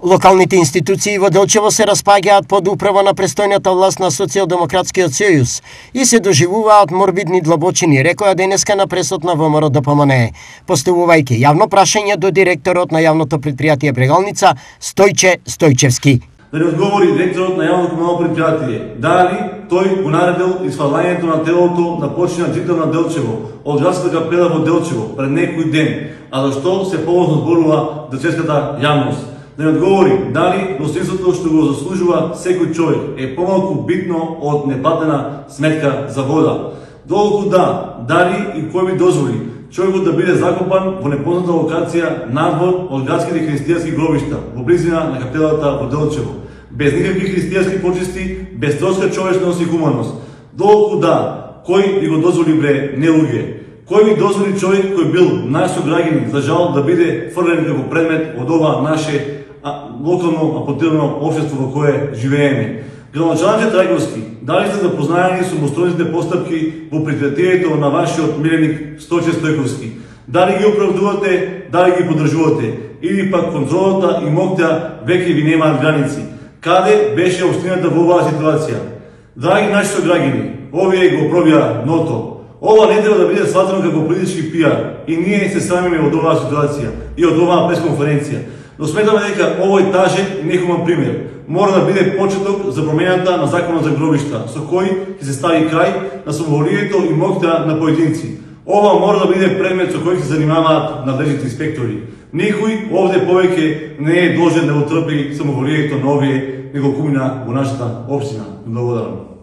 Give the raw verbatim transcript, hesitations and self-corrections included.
Локалните институции во Делчево се распаѓаат под управа на престојната власт на Социјалдемократскиот сојуз и се доживуваат морбидни длабочини, рекоа денеска на пресот на ВМРО Д П М Н Е, поставувајќи јавно прашање до директорот на јавното предпријатие Брегалница Стојче Стојчевски. Да не одговори директорот на јавното комунално предпријатие дали тој го наредил исфрлањето на телото на починат жител на Делчево од градската капела во Делчево пред некој ден, а зашто се повозно зборува делчевската јавност. Да не одговори дали достоинството што го заслужува секој човек е помалку битно од неплатена сметка за вода. Доколку да, дали и кој би дозволи човекот да биде закопан во непозната локација надвор од градските христијански гробишта во близина на капелата во Делчево, без никакви христијански почести, без троска човечност и хуманост. Доколку да, кој би го дозволи бре, не луѓе? Кој би дозволи човек кој бил наш сограѓанин за жал да биде фрлен како предмет од ова наше а, локално апотирано општество во кое живееме? Градоначалник Трајковски, дали сте запознаени со мостојните постапки во предпријатието на вашиот миленик Стојче Стојковски? Дали ги оправдувате, дали ги поддржувате? Или пак контролата и моќта веќе ви немаат граници? Каде беше општината во оваа ситуација? Драги наши сограѓани, овие го пробија ното. Ова не треба да биде сватено како политички пиар и ние се срамиме од оваа ситуација и од оваа пресконференција. Но сметаме дека овој тажен и нехуман пример мора да биде почеток за промената на законот за гробишта, со кој ќе се стави крај на самоволието и моќта на поединци. Ова мора да биде предмет со кој се занимаваат надлежните инспектори. Никој овде повеќе не е должен да го трпи самоволието на овие неколкумина во нашата општина. Благодарам.